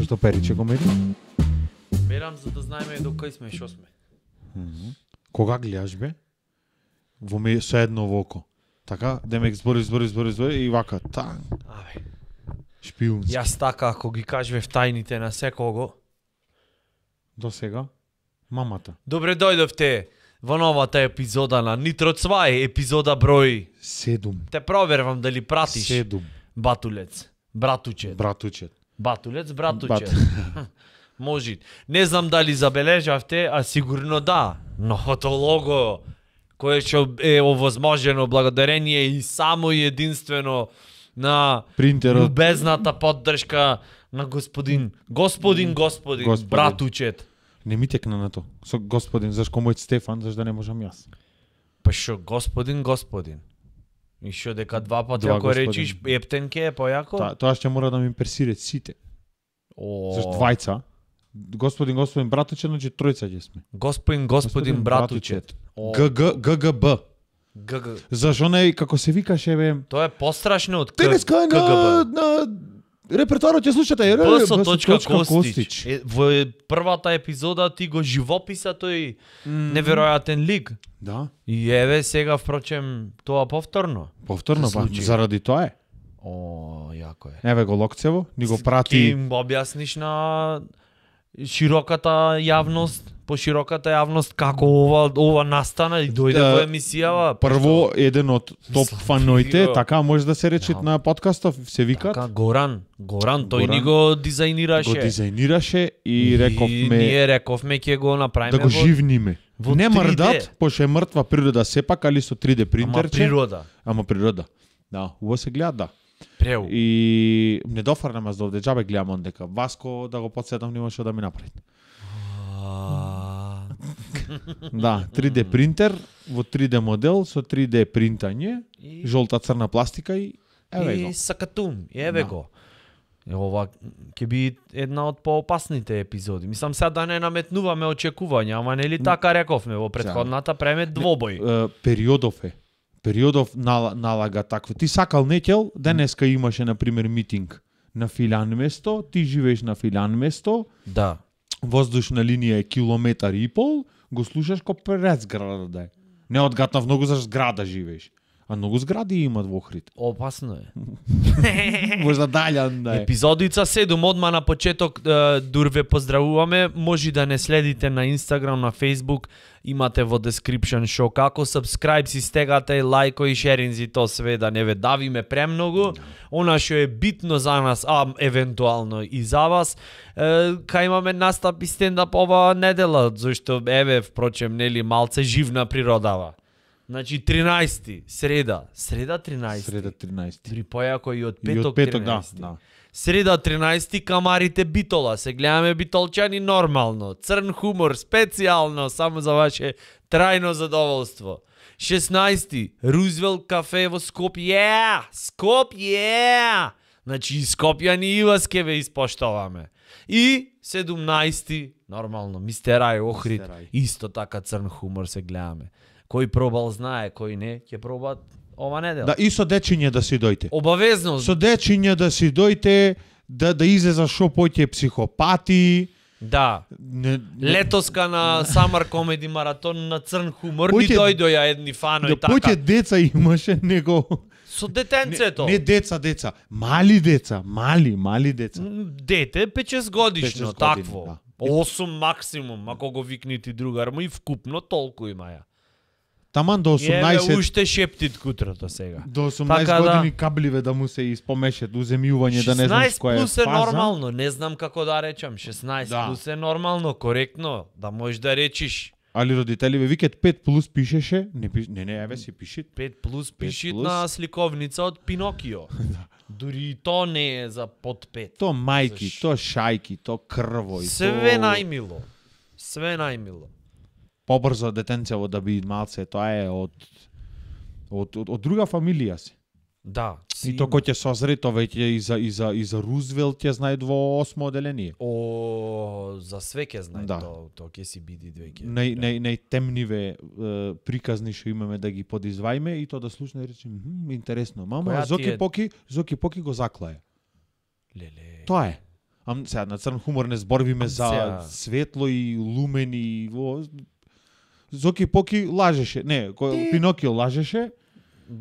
Зашто периче комедија? Берам за да знаеме до кај сме и шо сме. Кога гледаш бе? Во ме со едно во око. Така, демек збори и вака, тан. Абе, Шпиунски. јас така ако ги кажвев тајните на секого. До сега? Мамата. Добре дојдовте во новата епизода на Нитро Цвај, епизода број. 7. Те провервам дали пратиш. 7. Батулец, братучет. Братучет. Батулец, братучет. Може. Не знам дали забележавте, а сигурно да. Новото лого, кое што е овозможено благодарение и само и единствено на Принтерот. любезната поддршка на господин, братучет. Не ми текна на то. Со господин, зашко мојот Стефан, зашто да не можам јас? Па шо господин. И шо дека два пати Два ако господин. речиш ептенке е појако? Тоа ќе мора да ми имперсират сите. О, Зашто двајца. Господин, братучет, значи тројца ќе сме. господин братучет. О, ГГБ. ГГ. Зашо не, како се викаше бе? Тоа е пострашно од Денеска е на репертуарот ќе слушате. Костич. Во првата епизода ти го живописа тој неверојатен лик. Да. И еве сега впрочем тоа повторно. Повторно, Се па, случи. заради тоа е. О, јако е. Еве го Локцево, ни го Ки прати. им објасниш на широката јавност, по широката јавност како ова настана и дојде Да, во емисијава. Прво, еден од топ фаноите, Фио. така може да се рече Да. на подкастов, се викат. Така, Горан, тој Горан ни го дизајнираше. Го дизајнираше и рековме ние рековме ќе го направиме да го живниме. во Не 3D. мрдат, пошто е мртва природа сепак, али со 3D Ама принтерче. природа. Ама природа. Да, уво се гледа, да. Преу. И не дофрнам аз довде, џабе гледам ондека. Васко да го подсетам нема што да ми направи. Да, 3D принтер во 3D модел со 3D принтање, И- жолта црна пластика и еве го. И сакатум, и еве Да. го. Ова ќе би една од поопасните епизоди. Мислам сега да не наметнуваме очекувања, ама нели така рековме во претходната преме двобој. Периодов налага такво. Ти сакал некел, денеска имаше на пример митинг на Филјан место, ти живееш на Филјан место, Да. воздушна линија е километар и пол, го слушаш ко пред зграда да е. Не одгатнав многу за зграда живееш. А многу згради имат во Охрид. Опасно е. Можда далјан да е. Епизодица 7, одма на почеток дур ве поздравуваме. Може да не следите на Инстаграм, на Фейсбук, имате во description шо како, subscribe си стегате, лајко и шеринзи, то све да не ве давиме премногу. Она што е битно за нас, а евентуално и за вас, кај имаме настап и стендап ова недела, зашто еве впрочем нели малце живна природава. Значи 13, среда 13. Среда 13. Дури појако и од И петок, од петок, 13. да. Среда 13 камарите Битола. Се гледаме битолчани нормално. Црн хумор специјално само за ваше трајно задоволство. 16 Рузвелт кафе во Скопје. Скопје. Значи и Скопјани и вас ке ве испоштоваме. И 17 нормално Мистер Ај Охрид. Мистер Ај. Исто така црн хумор се гледаме. Кој пробал знае, кој не, ќе пробат ова недела. Да, и со дечиња да си дојте. Обавезно. Со дечиња да си дојте, да излеза шо поќе психопати. Да. Летоска на Summer Comedy Маратон на црн хумор ни Поќе- дојдоја едни фанои Да така. поќе деца имаше него. Со детенцето. Не деца, мали деца, мали деца. Дете 5-6 годишно, 5-6 години, такво. да. 8 максимум, ако го викни ти другар, му и вкупно толку има ја. Таман до И еве 18 уште шептит кутрото сега. до 18 Така да. години кабливе да му се испомешат, уземјување да не знаеш 16 која е плюс е фаза. нормално, не знам како да речам, 16 Да. плюс е нормално, коректно, да можеш да речиш. Али родителиве викат 5 плюс пишеше, не, еве си пиши. 5 плюс пишит плюс. на сликовница од Пинокио. Дури и то не е за под 5. То мајки, Заш- то шајки, то крвој, Све то најмило. Све најмило. побрзо детенцево да би малце, тоа е од друга фамилија си. Да. И то кој ќе созре, то веќе и за Рузвелт ќе знае во 8 оделение. О, за све ќе знае Да. то ќе си биди двеќе. Најтемниве приказни што имаме да ги подизвајме и то да слушне и речем, интересно, мама, Која ти Зоки е- Поки го заклае. Леле. Тоа е. Сега на црн хумор не зборвиме за Сега. светло и лумени. Зоки Поки лажеше. Не, Пинокио лажеше.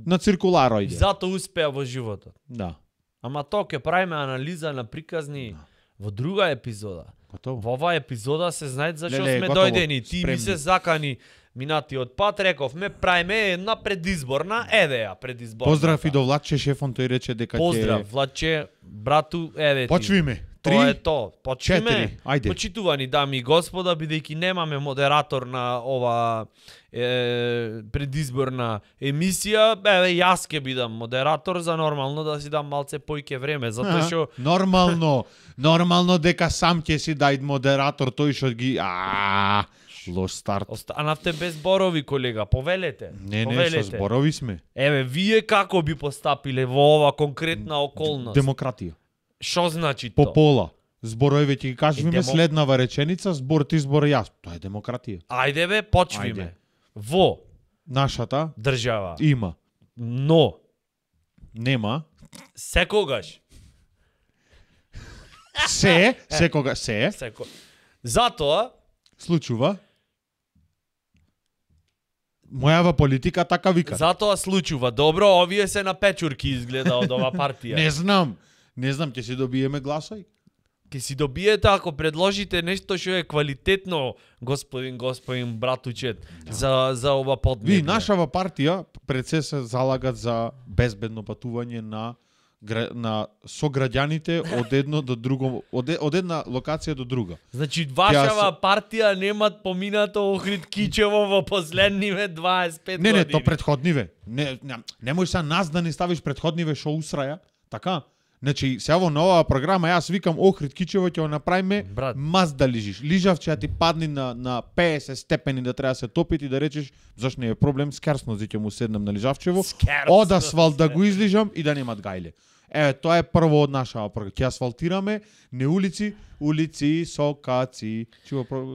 На циркулар ојде. Зато успеа во животот. Да. Ама тоа ќе правиме анализа на приказни во друга епизода. Готово. Во оваа епизода се знаат зашо Леле, сме готово. дојдени. Ти ми Спремни. се закани минатиот пат, рековме правиме една предизборна, еве ја предизборна. Поздрав и до Владче шефон, тој рече дека Поздрав, Владче, брату, еве ти. Почвиме. Тоа е 3, то. Почвиме. 4, ајде. Почитувани дами и господа, бидејќи немаме модератор на ова предизборна емисија, еве јас ќе бидам модератор за нормално да си дам малце поиќе време, затоа што Нормално дека сам ќе си дај модератор, тој што ги лош старт. останавте без зборови, колега, повелете. Не, со повелете. зборови сме. Еве, вие како би постапиле во ова конкретна околност? Демократија. Што значи По тоа? пола. Зборови ќе ги кажеме Демо- следнава реченица, збор ти, збор јас. Тоа е демократија. Ајде бе, почвиме. Ајде. Во Нашата држава. има. Но, Нема. секогаш, Секога се затоа, случува. Мојава политика така вика. затоа случува. Добро, овие се на печурки изгледа од ова партија. Не знам, ќе си добиеме гласови. Ке си добиете ако предложите нешто што е квалитетно, господин братучет, за ова поднебје. Ви, нашава партија пред се залагат за безбедно патување на сограѓаните од едно до друго, од една локација до друга. Значи, вашава партија немат поминато Охрид Кичево во последниве 25 години. Не, то предходниве. Не можеш са нас да не ставиш предходниве шо усраја, така? Значи, сега во новава програма јас викам Охрид Кичево ќе го направиме Брат. маз да лижиш. Лижав ќе ти падни на 50 степени да треба да се топи и да речеш зашто не е проблем, скерснози ќе му седнам на лижавчево, од асфалт да го излижам и да немат гајле. Еве, тоа е прво од нашава програма. Ќе асфалтираме не улици со каци.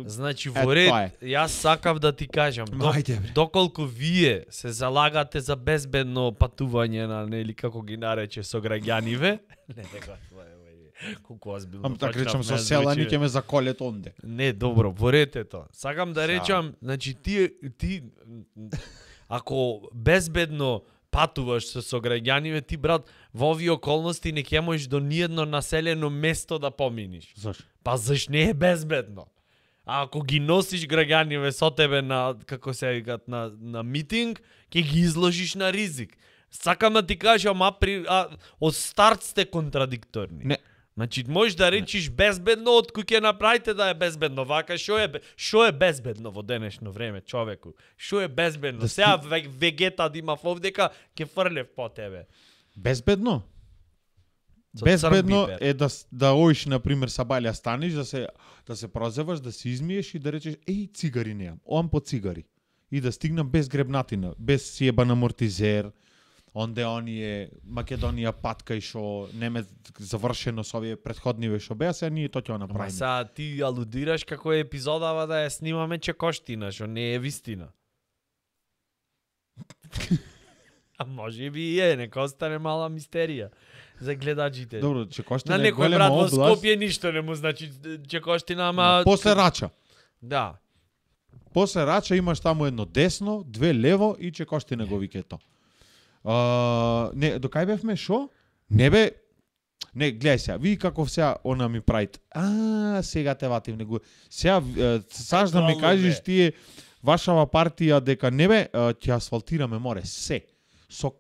Значи, Е, во ред, тоа е. јас сакав да ти кажам, Ајде, бре. доколку вие се залагате за безбедно патување на, нели, како ги нарече, сограѓаниве, не, колку озбилно. Ам така почнав, речам со не селани звучи. ќе ме заколет онде. Не, добро, во ред е тоа. Сакам да речам, значи ти ако безбедно патуваш со сограѓаниве, ти брат, во овие околности не ќе можеш до ниедно населено место да поминиш. Зашо? Па заш не е безбедно? А ако ги носиш граѓаниве со тебе на, како се викат, на митинг, ќе ги изложиш на ризик. Сакам да ти кажам, од старт сте контрадикторни. Не. Значи, можеш да речиш безбедно, од кој ќе направите да е безбедно. Вака, шо е безбедно во денешно време, човеку? Шо е безбедно? Сега вегета да има овдека, ќе фрлев по тебе. Безбедно? Со Безбедно црн е да оиш на пример са баља станиш, да се прозеваш, да се измиеш и да речеш еј цигари неам, оам по цигари. И да стигнам без гребнатина, без сиебан амортизер, онде оние Македонија патка и шо неме завршено со овие претходниве шо беа, сега ние тоа ќе го Ама направиме. сега ти алудираш како е епизодава да ја снимаме чекоштина, што не е вистина. А може би и е, нека остане мала мистерија за гледачите. Добро, Чекоштина На е некој голема брат во област. Скопје ништо не му значи чекоштина, ама... После Рача. Да. После Рача имаш таму едно десно, две лево и Чекоштина го вике то. Не, до кај бевме, шо? Не бе, не, гледај сега, ви каков сега она ми правит. Сега те ватив него. Сега, саш да ми Ето, кажеш бе. тие, вашава партија дека не бе, ќе асфалтираме море, се. Со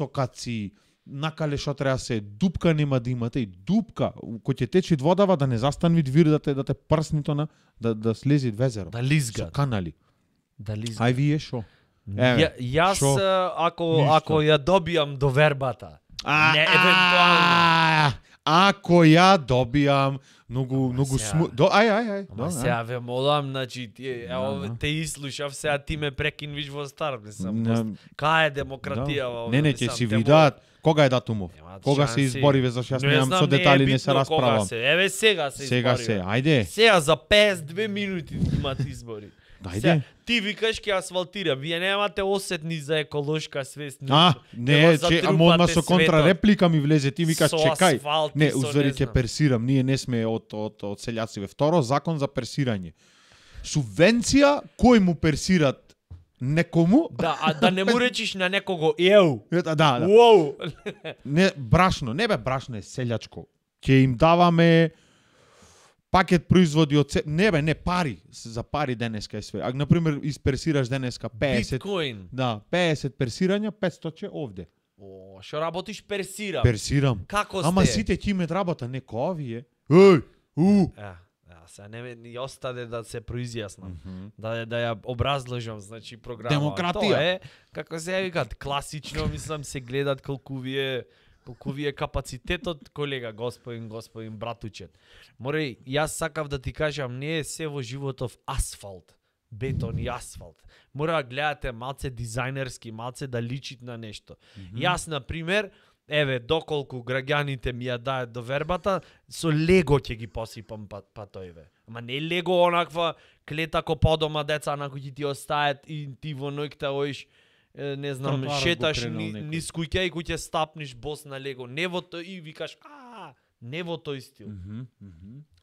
каци, накале што треба се, дупка нема да имате и дупка, кој ќе течи водава да не застанви двир да те прсни то на, да слези везеро. Да Со лизга. канали. Да лизга. Ај вие шо? Еве, Јас, шо? ако ја добијам до вербата, не евентуално. Ако ја добијам многу сега. сму... Ај. Ама сега ве молам, значи, Да. те изслушав, сега ти ме прекинвиш во стар, мислам. Не, Кај е демократија во Не, ќе си видат кога е датумов. Немаат Кога се шанси. избориве, зашто јас Не немам знам, со не е детали, не битно се кога расправам. се. Еве сега се Сега избориве. се, ајде. Сега за 52 минути имат избори. Дајде. Ти викаш ке асфалтира, вие немате осетни за еколошка свест. Не, ама одма со контрареплика ми влезе, ти викаш Со чекај. асфалт и Не, со узвери не ќе знам. персирам, ние не сме од селјациве. Второ, закон за персирање. Субвенција кој му персират некому? Да, а да не му речиш на некого еу. Да. Уоу. Не, брашно, не бе брашно е селјачко. Ќе им даваме пакет производи од не пари, за пари денеска е све. А на пример исперсираш денеска 50. Биткоин. Да, 50 персирања, 500 овде. О, што работиш персирам. Персирам. Како сте? Ама сите ќе имат работа, не ко овие. Еј, Сега не ни остаде да се произјаснам. Да ја образложам, значи програма. Демократија. Тоа е, како се викат, класично, мислам, се гледат колку ви е капацитетот, колега, господин братучет. Морај, јас сакав да ти кажам, не е се во животов асфалт, бетон и асфалт. Мора да гледате малце дизајнерски, малце да личит на нешто. Јас, на пример, еве, доколку граѓаните ми ја дајат до вербата, со лего ќе ги посипам патоиве. Ама не лего онаква клета ко подома деца на кои ти остајат и ти во ноќта оиш, не знам, Тротоарот шеташ го кренал некој. низ куќа и кој стапниш бос на лего. Не во тој и викаш, не во тој стил.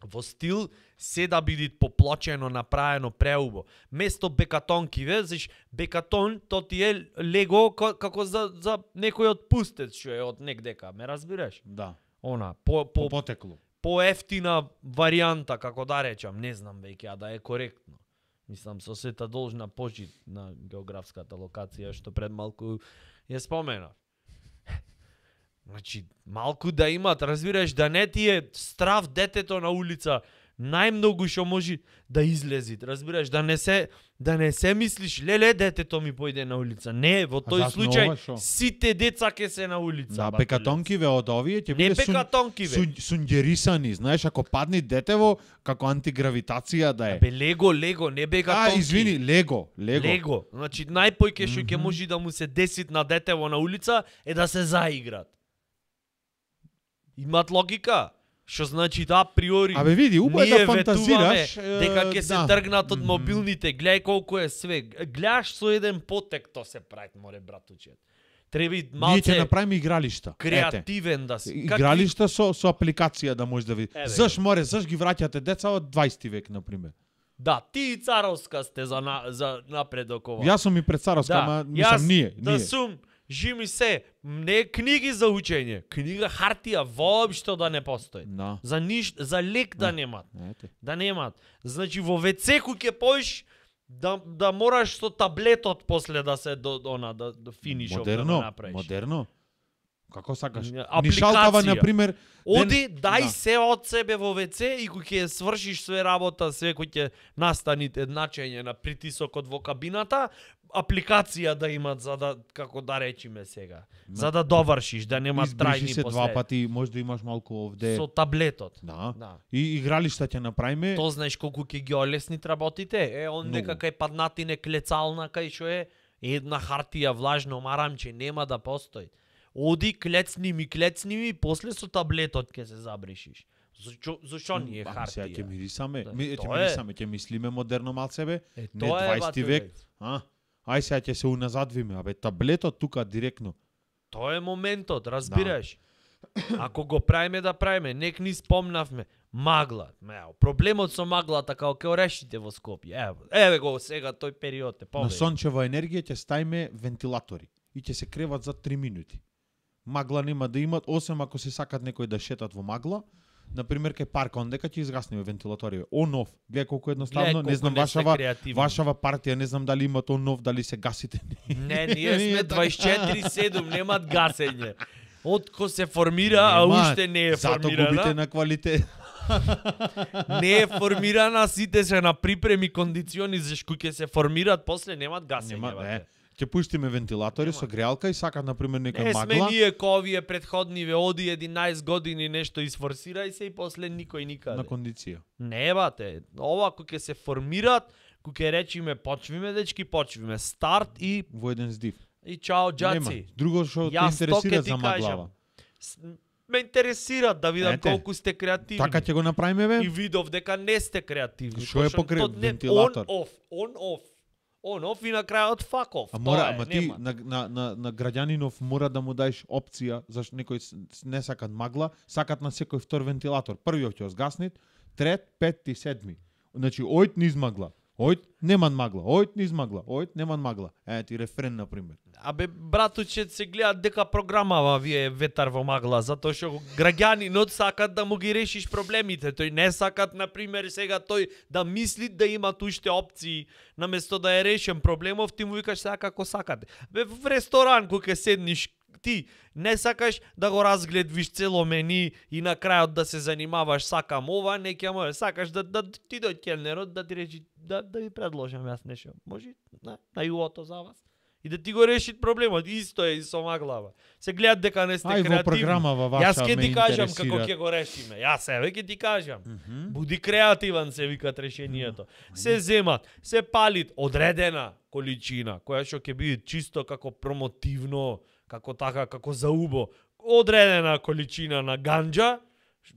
Во стил се да биде поплочено, направено преубо. Место бекатонки, заш бекатон, то ти е лего како за некој отпустец што е од негдека, ме разбираш? Да. Она, Потекло. поевтина варијанта, како да речам, не знам веќе, а да е коректно. Мислам, со сета должна почит на географската локација, што пред малку ја споменав. Значи, малку да имат, разбираш, да не ти е страв детето на улица, најмногу што може да излези, разбираш, да не се мислиш, леле, детето ми појде на улица. Не, во тој зашто случај, ова шо? сите деца ке се на улица. Да, бателец. бекатонкиве од овие ќе Не биде бекатонкиве. сунгерисани, знаеш, ако падне детево, како антигравитација да е. Бе, лего, не бекатонки. Извини, лего. Лего. Значи, најпојќе што ќе може да му се деси на детево на улица е да се заиграт. Имат логика. Што значи да априори. Абе види, убаво ние да фантазираш. ветуваме дека ќе се тргнат од мобилните. Гледај колку е све. Гледаш со еден потек то се прави, море братучет. Треба Ние ќе малце направиме игралишта. креативен да си. Игралишта со апликација да може да види. Еве Заш ги враќате деца од 20 век на пример. Да, ти и царовска сте за напредок ова. Јас сум и пред царовска, ама мислам ние. Да сум, жими се, не книги за учење, книга хартија воопшто да не постои. Да. За ништо, за лек да немат. Ете. Да немат. Значи во WC ќе поиш да мораш со таблетот после да се да финишов да направиш. Модерно. Како сакаш? Апликација. Нишалтава на пример. Оди, дај да. се од себе во WC и кој ќе свршиш све работа, све кој ќе настаните едначење на притисокот во кабината, апликација да имат за да, како да речиме сега, за да довршиш, да нема трајни Избриши се последици. два пати, може да имаш малку овде. Со таблетот. Да. Да. И игралишта ќе направиме. То знаеш колку ќе ги олеснит работите? Он Многу. нека кај паднатине клецална кај што е една хартија влажно марамче нема да постои. Оди клецни ми, после со таблетот ќе се забришиш. Зошто не е Сега ќе хартија? мирисаме, Да, ќе тоа е. мирисаме, ќе мислиме модерно малцебе. Е, Не тоа е 20 век. батулец. Ај сега ќе се уназадвиме, абе таблетот тука директно. Тоа е моментот, разбираш? Ако го правиме да правиме, нек ни спомнавме. Магла. Проблемот со маглата како ќе решите во Скопје. Еве го сега тој период е На повеќе. сончева енергија ќе ставиме вентилатори и ќе се креват за 3 минути. Магла нема да имат, осем ако се сакат некој да шетат во магла. Например, кај парк, ондека ќе изгасниме вентилаториве. Он-оф. Гледај колку едноставно, не знам вашава партија, не знам дали имат он-оф, дали се гасите. Не, ние сме 24/7, немат гасење. Отко се формира, а уште не е Зато губите формирана. на квалитет. Не е формирана, сите се на припреми кондициони, зашто ќе се формираат, после немат гасење. Нема, бате. Ќе пуштиме вентилатори Нема. со греалка и сакат на пример нека Не сме магла. ние ковие предходниве, оди 11 години нешто изфорсирај се и после никој никаде. На кондиција. Не бате, ова кој ќе се формираат, кој ќе речиме почвиме дечки, почвиме старт и Во еден здив. чао Нема. џаци. Друго што те Јас тоа ќе интересира ти за кажам. маглава. ме интересира да видам Ете, колку сте креативни. Така ќе го направиме бе? И видов дека не сте креативни. Што е Точно покрај то не- вентилатор? On off и на крајот fuck off. А мора, Тоа е, ама ти нема. на граѓанинов мора да му даеш опција, зашто некои не сакат магла, сакат на секој втор вентилатор. Првиот ќе згаснет, трет, петти, седми. Значи, ојд низ магла. Ојд неман магла. Ојд низ магла. Ојд неман магла. Ти рефрен на пример. Абе, братуче, се гледа дека програмава вие ветар во магла, затоа што граѓанинот сакат да му ги решиш проблемите. Тој не сакат, например, сега тој да мисли да има уште опции, наместо да е решен проблемов, ти му викаш сега како сакате. Бе, в ресторан кога ќе седниш, ти не сакаш да го разгледвиш цело мени и на крајот да се занимаваш сакам ова, не ќе може, сакаш да ти дојде келнерот да ти речи да ви предложам јас нешто. Може на јуото за вас. И да ти го реши проблемот, исто е и со маглава. Се гледат дека не сте креативни. Во програмава ваша Јас ќе ме ти кажам интересира. како ќе го решиме. Јас еве ќе ти кажам. Буди креативен, се викат решението. Се земат, се палит одредена количина која што ќе биде чисто како промотивно, како така, како за убо. Одредена количина на ганџа,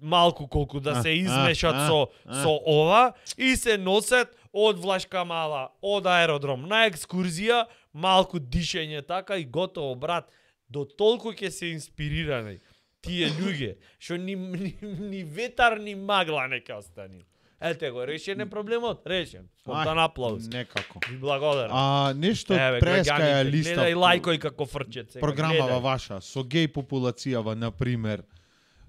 малку колку да се измешат со ова и се носат од Влашка Мала, од аеродром на екскурзија, малку дишење така и готово, брат. До толку ќе се инспирирани тие луѓе, што ни ветар ни магла не ќе остани. Ете го, решен е проблемот, решен. Спонтан аплауз. Некако. Ви благодарам. Нешто прескаја листа. Гледај лајкој како фрчет сега. Програмава ваша со геј популацијава, например,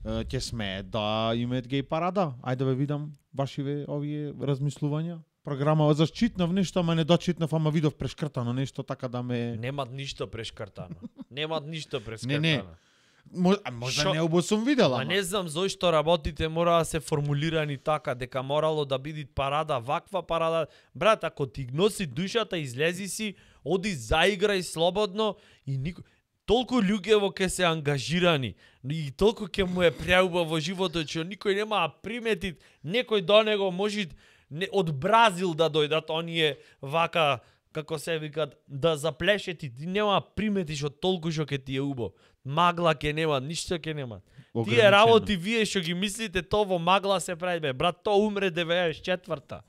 ќе смее да имаат геј парада? Ајде да видам вашиве овие размислувања. Програмава за читнав нешто, ама не дочитнав, ама видов прешкртано нешто така да ме... Немат ништо прешкртано. Немат ништо прешкртано. Не. Можда не обо сум видел, ама. Не знам зошто работите мора да се формулирани така, дека морало да биде парада, ваква парада. Брат, ако ти носи душата, излези си, оди заиграј слободно и никој... Толку луѓе во ке се ангажирани и толку ќе му е преуба во животот, што никој нема примети, некој до него може од Бразил да дојдат оние вака, како се викат, да заплешет и ти нема приметиш од толку што ќе ти е убо. Магла ќе нема, ништо ќе нема. Тие работи вие што ги мислите, то во магла се прави, бе. Брат, то умре 94-та.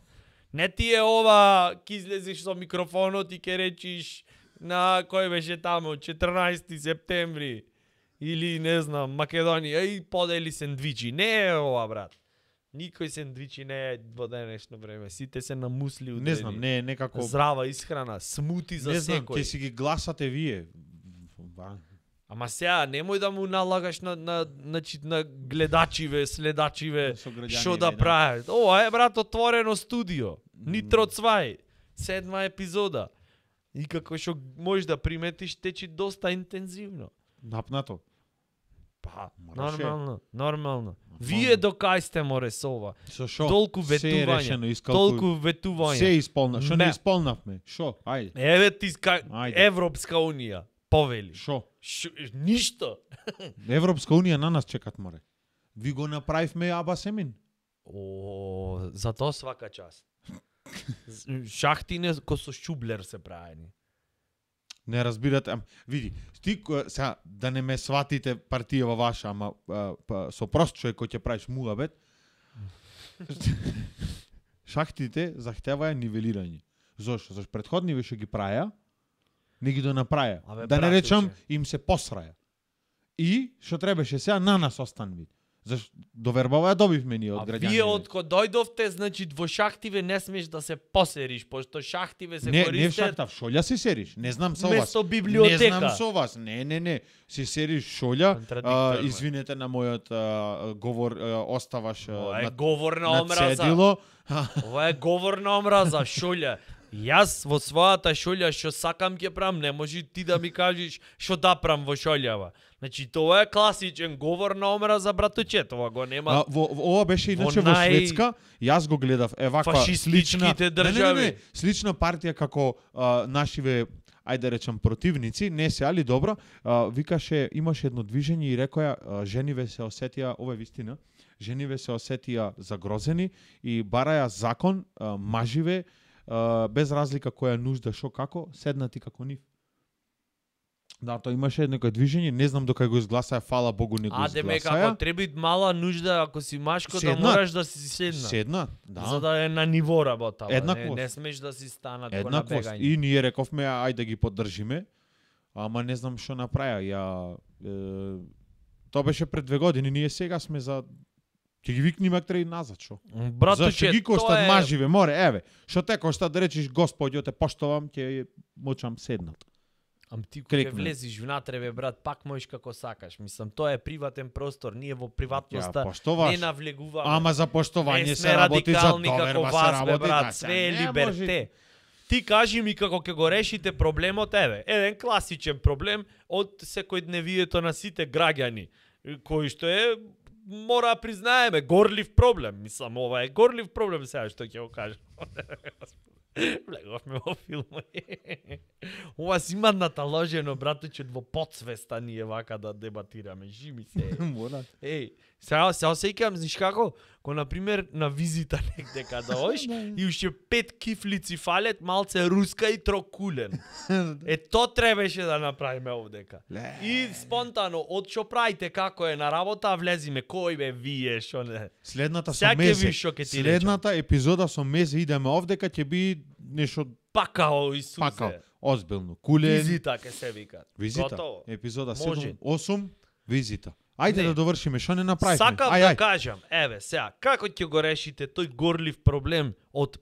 Не ти е ова, ки излезеш со микрофонот и ќе речиш на кој беше таму, 14 септември или не знам, Македонија, и подели сендвичи. Не е ова, брат. Никој сендвичи не е во денешно време. Сите се на мусли удрени. Не знам, не е некако... Здрава исхрана, смути за секој. Не знам, ќе си ги гласате вие. Ама сега, немој да му налагаш на гледачиве, следачиве, што да прават. Ова е, брат, отворено студио. Нитро Цвај, 7 епизода. И како што можеш да приметиш, течи доста интензивно. Напнато. Па, нормално. Вие до кај сте море со ова? Со шо? Толку ветување, толку ветување. Се исполна, што не исполнавме? Шо? Ајде. Еве ти Европска Унија повели. Шо? Ништо. Европска Унија на нас чекат море. Ви го направивме Аба Семин. За тоа свака част. Шахтине ко со шублер се правени. Не разбирате, види, ти сега да не ме сватите партијава ваша, ама со прост човек кој ќе правиш муабет, шахтите захтеваја нивелирање. Зошто? Зашто претходниве што ги праја, не ги донаправија. Да не речам, им се посраја. И што требаше сега на нас останви. Зашто довербава ја добивме ние од граѓани. Вие откога дојдовте, значи во шахтиве не смеш да се посериш, пошто шахтиве се користат. Не в шахта, в шолја си сериш. Не знам со вас. Место библиотека. Не знам со вас. Не. Си сериш шолја. Извинете на мојот говор, оставаш ова е говор на омраза. Цедило. Ова е говор на омраза, шолја. Јас во својата шолја што сакам ќе правам, не може ти да ми кажеш што да правам во шолјава. Значи тоа е класичен говор на омраза, братуче, тоа го нема. Ова беше иначе во Шведска, јас го гледав, ваква слична држави. Слична партија како нашиве, ајде речам, противници, не се, али добро, викаше, имаше едно движење и рекоја, жениве се осетија, ова е вистина, жениве се осетија загрозени и бараја закон, маживе, без разлика која нужда, шо како, седнати како нив. Да, тоа имаше некој движење, не знам докај го изгласаа, фала Богу не го А деме изгласаа. како треба мала нужда ако си машко да Седнат. мораш да си седна. Седна, да. За да е на ниво работа. Еднаквост. Не смеш да си станат на Еднаквост. бегање. И ние рековме ајде да ги поддржиме. Ама не знам што направија. Тоа беше пред 2 години, ние сега сме за ќе ги викнеме актери назад, шо? Братуче, Зашто ги тоа коштат е... маживе, море, еве. Што те кошта да речеш Господјо те поштовам, ќе мочам седнат. Ам ти кога Крикнем. влезиш внатре бе брат, пак можеш како сакаш. Мислам, тоа е приватен простор. Ние во приватноста поштоваш. не навлегуваме. Ама за поштовање не се сме работи, за радикални како доверба се вас, бе работи. брат, да, све е не либерте. може. Ти кажи ми како ќе го решите проблемот, еве, еден класичен проблем од секојдневието на сите граѓани, кој што е мора да признаеме горлив проблем. Мислам, ова е горлив проблем сега што ќе го кажам. Влеговме во филм. Ова си има наталожено, братуче, во подсвеста ние вака да дебатираме. Жими се. Мора. Еј, сега се осеќам, знаеш како? Ко на пример на визита негде када оиш и уште 5 кифлици фалет, малце руска и трокулен. Тоа требаше да направиме овдека. И спонтано, од што правите, како е на работа, влезиме кој бе вие, што не. Следната со Сега ќе Мезе. видиш што ќе ти Следната епизода со Мезе идеме овдека ќе би нешто Пакао Исусе. пакал. Озбилно. Кулен. Визита ке се вика. Визита. Готово. Епизода Може. 7, 8, визита. Ајде Не. да довршиме, што не направивме? Сакам Ај, да ај. кажам, еве, сега, како ќе го решите тој горлив проблем од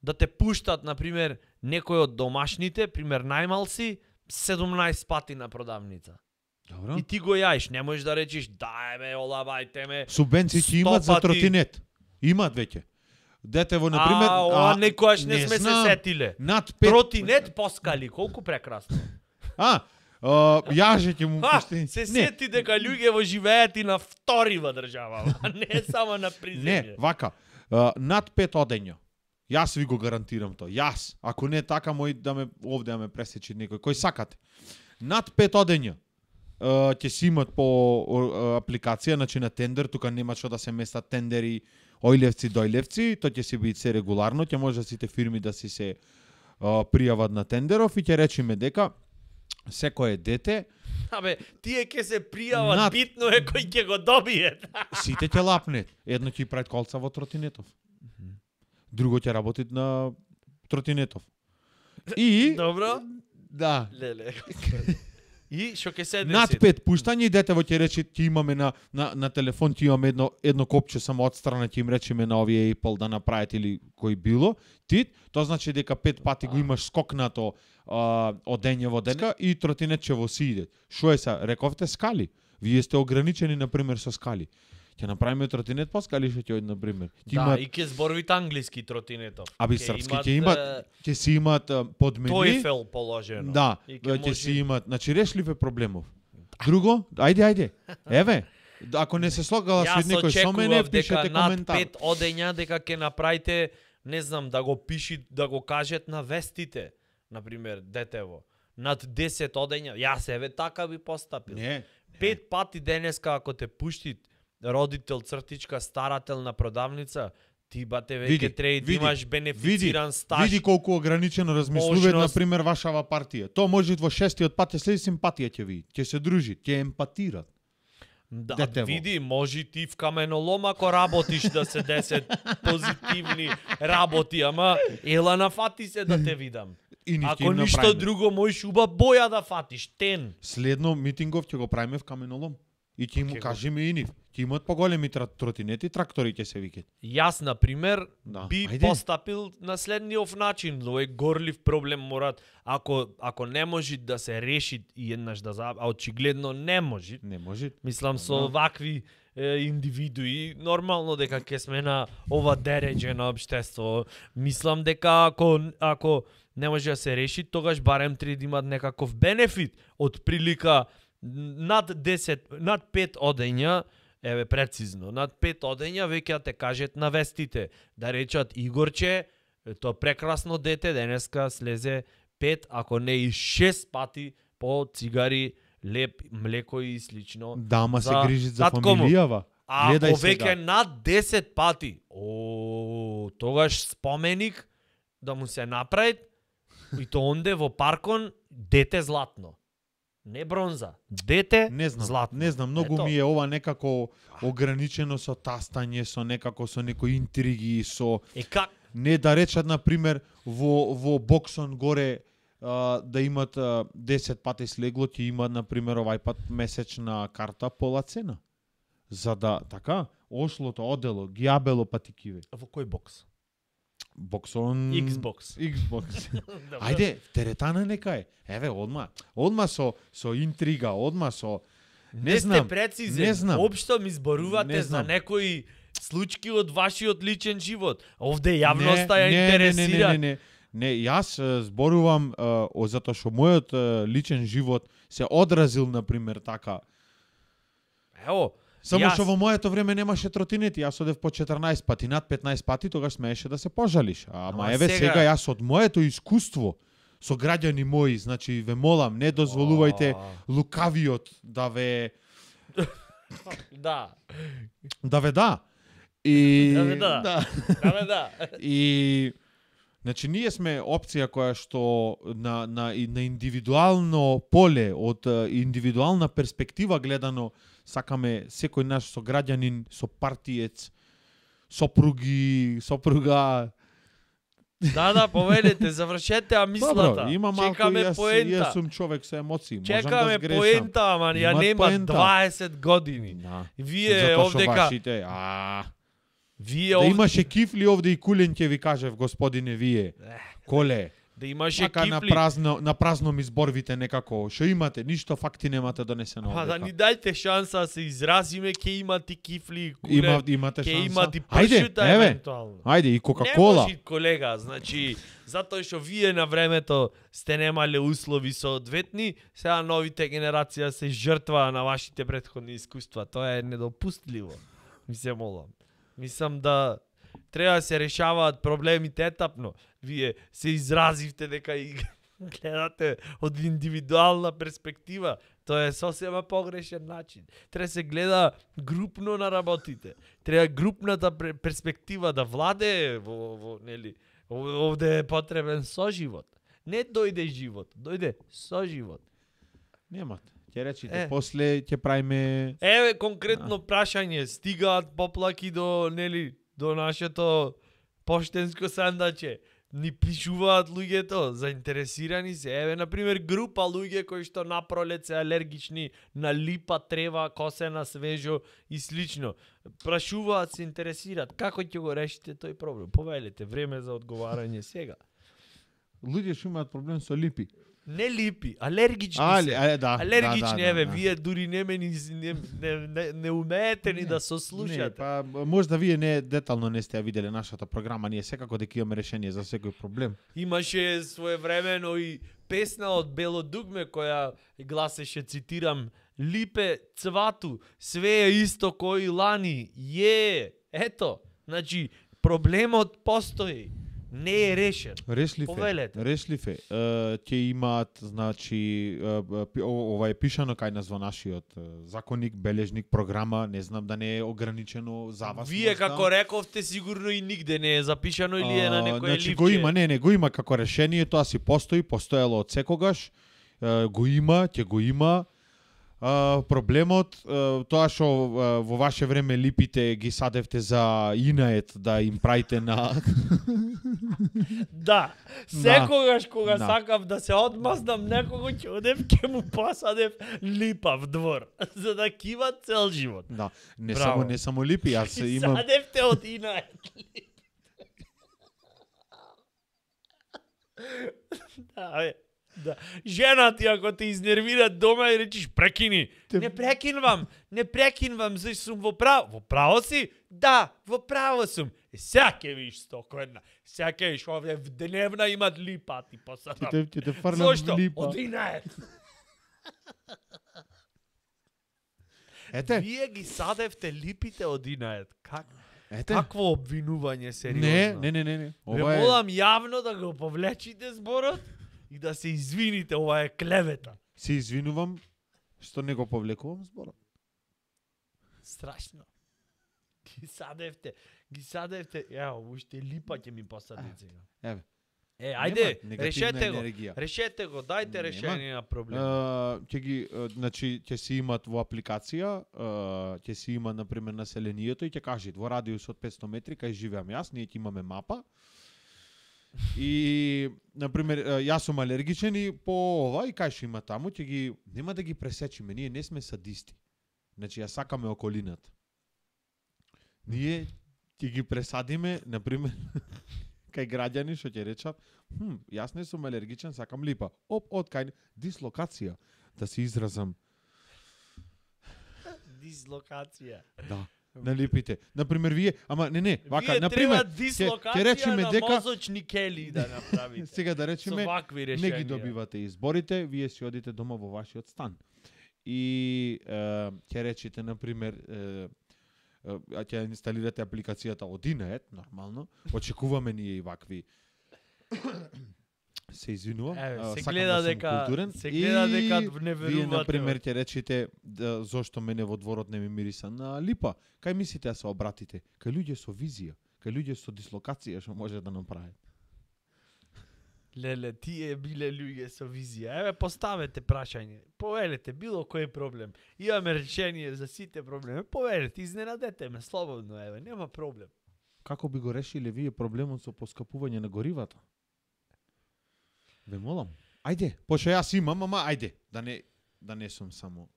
да те пуштат, на пример, некој од домашните, пример најмалси, 17 пати на продавница. Добро. И ти го јаиш, не можеш да речеш, дај ме, олабајте ме. Субвенции ќе 100 имат за пати. тротинет. Имат веќе. Детево, на пример, ова некојаш не сме се знам, сетиле. Над 5. Тротинет поскали, колку прекрасно. Јаже ќе му пусти. Се сети дека луѓе во живеат и на вторива држава, а не само на Не, приземје. вака. Над 5 одења. Јас ви го гарантирам тоа. Јас, ако не е така, мој да ме овде да ме пресечи некој кој сакате. Над 5 одења ќе си имат по апликација, значи на тендер, тука нема што да се местат тендери, ојлевци, дојлевци, тоа ќе си биде се регуларно, ќе може сите фирми да си се пријават на тендеров и ќе речеме дека секое дете, Абе, тие ќе се пријават, Над- битно е кој ќе го добие. сите ќе лапнет. Едно ќе прават колца во тротинетов. Друго ќе работи на тротинетов. И Добро? да, Леле. И што ќе се над деси? 5 пуштања и детево ќе рече ќе имаме на телефон ќе имаме едно копче само отстрана ќе им речеме на овие Apple да направат или кој било. Тоа значи дека 5 пати го имаш скокнато одење во денка и тротинетче во си иде. Шо е са? Рековте скали. Вие сте ограничени на пример со скали. Ќе направиме тротинет по скали што ќе оди на пример. Ќе Да, имаат и ќе зборуват англиски тротинетов. Аби српски ќе имат, ќе си имат подмени. TOEFL положено. Да, И ќе си имат, значи решливе проблемов. Друго, ајде. Еве, ако не се слогала со Јас некој со мене, очекував дека пишете над коментар. 5 одења дека ќе направите, не знам, да го пиши, да го кажат на вестите, на пример, детево. Над 10 одења, јас еве така би постапил. Не. 5 пати денеска ако те пушти родител, цртичка, старател на продавница, ти бате веќе треба да имаш бенефициран стаж. Види колку ограничено размислуваат на Можност. пример вашава партија. Тоа може во 6-тиот пат ќе следи симпатија ќе види, ќе се дружи, ќе емпатира. Да, детево. види, може ти в каменолом ако работиш да се 10 позитивни работи, ама ела нафати се да те видам. И нив ќе Ако им ништо направиме. друго, можеш уба боја да фатиш, тен. Следно митингов ќе го правиме в каменолом. И ќе Ќе му го- кажеме и нив. Ќе имаат поголеми тротинети, трактори ќе се викат. Јас, на пример, Да, би ајде. постапил на следниот начин. Овој горлив проблем морат, ако не може да се реши и еднаш да а очигледно не може. Не може. Мислам со вакви индивидуи, нормално дека ќе сме на ова дереđено општество. Мислам дека ако не може да се реши, тогаш барем треба да имат некаков бенефит од прилика над 10, над 5 одења, еве прецизно, над 5 одења веќе да те кажат на вестите, да речат Игорче, тоа прекрасно дете денеска слезе 5, ако не и 6 пати по цигари, леп, млеко и слично. Да, ама се за грижит за татко му. фамилијава. А Гледај ако сега. веќе над 10 пати, тогаш споменик да му се направи И то онде во паркон дете златно. Не бронза, дете Не знам, златно. не знам, многу Ето. ми е ова некако ограничено со тастање, со некако со некои интриги, со Как? не да речат на пример во боксон горе да имат 10 пати слегло, ќе имат на пример овај пат месечна карта пола цена. За да така ошлото одело, гиабело патикиве. Во кој бокс? Боксон Xbox. Xbox. Ајде, теретана нека е. Еве, одма со интрига, одма со Не знам, сте прецизен. не знам. Општо ми зборувате Не за знам. некои случки од вашиот личен живот. Овде јавноста ја интересира. Не, јас зборувам затоа што мојот личен живот се одразил на пример така. Ево, Само јас- што во моето време немаше тротинети, јас одев по 14 пати, над 15 пати, тогаш смееше да се пожалиш. Ама еве сега јас од моето искуство со граѓани мои, значи ве молам, не дозволувајте лукавиот да ве Да. да. И Да ве да. Да. И значи ние сме опција која што на индивидуално поле, од индивидуална перспектива гледано, сакаме секој наш сограѓанин, сопартиец, сопруга. Да, повелете, завршете, а мислата. Добро, има малку, Чекаме јас поента. сум човек со емоции, можам Чекаме да сгрешам. поента, ама ја Имат нема поента. 20 години. Да. Вие Затоа што овдека, вашите, вие да овде, имаше кифли овде и кулен ќе ви кажев, господине, вие. Коле. да имаше Така на кифли. празно ми зборвите некако. Што имате? Ништо факти немате донесено Па да овдека. ни дајте шанса да се изразиме, ќе имате кифли и куле, Имате ќе шанса. имате Ајде, пршута еве. евентуално. Ајде, и Не Кока-кола. може, колега, значи, затоа што вие на времето сте немале услови соодветни, сега новите генерација се жртва на вашите претходни искуства. Тоа е недопустливо. Ми се молам. Мислам да треба да се решаваат проблемите етапно. Вие се изразивте дека и гледате од индивидуална перспектива. Тоа е сосема погрешен начин. Треба се гледа групно на работите. Треба групната перспектива да владее во нели. Овде е потребен соживот. Не дојде живот, дојде соживот. Немате. Ќе речите, Е. после ќе правиме... Еве конкретно прашање, стигаат поплаки до нели до нашето поштенско сандаче. Ни пишуваат луѓето, заинтересирани се. Еве на пример група луѓе кои што напролет се алергични на липа, трева, косена, свежо и слично. Прашуваат, се интересираат како ќе го решите тој проблем. Повелете, време за одговарање сега. Луѓе што имаат проблем со липи. Не липи, алергични се. Да. Алергични, еве, да. вие дури не умеете ни да Не, сослушате. па можда вие не детално не сте ја виделе нашата програма, ние секако дека имаме решение за секој проблем. Имаше своевремено и песна од Бело дугме која гласеше, цитирам, Липе цвату, све е исто кој лани. Ето, значи проблемот постои, не е решен. Повелете. Решлив е. Ќе имаат, значи, ова е пишано кај нас во нашиот законник, бележник, програма, не знам да не е ограничено за вас. Вие можда. како рековте сигурно и нигде не е запишано или е на некој значи, ливче. го има, не, го има како решение, тоа си постои, постоело од секогаш, го има, ќе го има. Проблемот, тоа што во ваше време липите ги садевте за инает да им правите на... Да, секогаш кога Да. сакав да се одмазнам некого, ќе одев ќе му посадев липа в двор, за да кива цел живот. Да, Браво. не само липи, јас И имам... садевте од инает. Да, бе. Да. Жена ти ако те изнервира дома и речиш прекини. Не прекинвам, зашто сум во право. Во право си? Да, во право сум. Сега ќе виш стоко една. Сега ќе виш овде в дневна имат липа ти посадам. Ќе те фрлам Зошто? в липа. Од инает. Ете, Вие ги садевте липите од инает. ете. Какво обвинување сериозно? Не. Ве молам јавно да го повлечите зборот и да се извините, ова е клевета. Се извинувам што не го повлекувам зборот. Страшно. Ги садевте. Ево, уште липа ќе ми посадите сега. Еве. Ајде, негативна решете го. енергија. Решете го, дајте Нема. решение на проблемот. Ќе си имат во апликација, ќе си има на пример населението и ќе кажат во радиус од 500 метри кај живеам јас, ние ќе имаме мапа. И на пример јас сум алергичен и по ова и кај што има таму ќе ги нема да ги пресечиме, ние не сме садисти. Значи ја сакаме околината. Ние ќе ги пресадиме на пример кај граѓани што ќе речат, јас не сум алергичен, сакам липа. Од кај дислокација, да се изразам. Дислокација. Да. На липите. Например, вие, ама не, вака, Вие например, треба дислокација на мозочни кели да направите. Сега да речеме, Со вакви не решенија. ги добивате изборите, вие си одите дома во вашиот стан. И ќе речете, например, ќе инсталирате апликацијата од Инет, нормално. Очекуваме ние и вакви се извинувам. Се сакам гледа да сум дека културен. се гледа дека не Вие, верувате. например, ќе речете зошто мене во дворот не ми мириса на липа. Кај мислите да се обратите? Кај луѓе со визија, кај луѓе со дислокација што може да направат. Леле, тие биле луѓе со визија. Еве, поставете прашање. Повелете било кој проблем. Имаме решение за сите проблеми. Повелете, изненадете ме слободно, еве, нема проблем. Како би го решиле вие проблемот со поскапување на горивата? Ве молам. Ајде, пошто јас имам, ама ајде, да не сум само